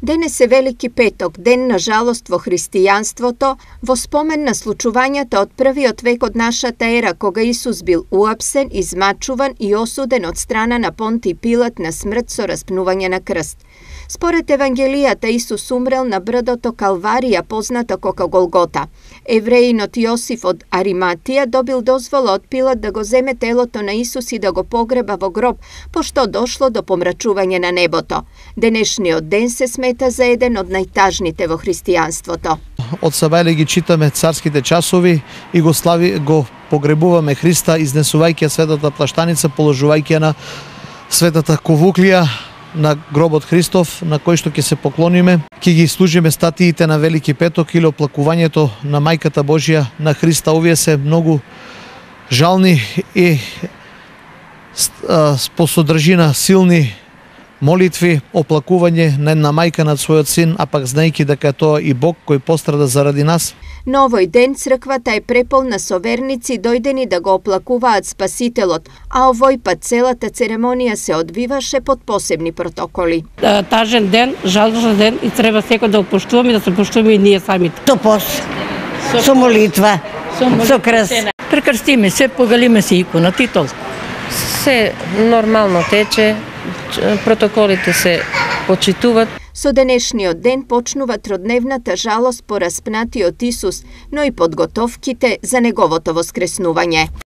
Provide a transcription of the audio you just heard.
Денес е Велики петок, ден на жалост во христијанството, во спомен на случувањата од првиот век од нашата ера, кога Исус бил уапсен, измачуван и осуден од страна на Понтиј Пилат на смрт со распнување на крст. Според Евангелијата, Исус умрел на брдото Калварија, познато како Голгота. Евреинот Јосиф од Ариматија добил дозвола од Пилат да го земе телото на Исус и да го погреба во гроб, пошто дошло до помрачување на небото. Денешниот ден се смета за еден од најтажните во христијанството. Од Савајле ги читаме царските часови и го погребуваме Христа, изнесувајќи светата плаштаница, положувајќи на светата ковуклија на гробот Христов, на кој што ќе се поклониме. Ќе ги служиме статиите на Велики петок или оплакувањето на Мајката Божја на Христа. Овие се многу жални и по содржина силни молитви, оплакување на една мајка над својот син, а пак знаејќи дека тоа и Бог кој пострада заради нас. На овој ден црквата е преполна со верници дојдени да го оплакуваат Спасителот, а овој пат целата церемонија се одвиваше под посебни протоколи. Тажен ден, жалосен ден и треба секој да опоштуваме и да се поштуваме и ние самите. Со пост, со молитва, со крст. Прекрстиме се, погалиме се иконата и толку. Се нормално тече, протоколите се почитуваат. Со денешниот ден почнува тродневната жалост по распнатиот Исус, но и подготовките за неговото воскреснување.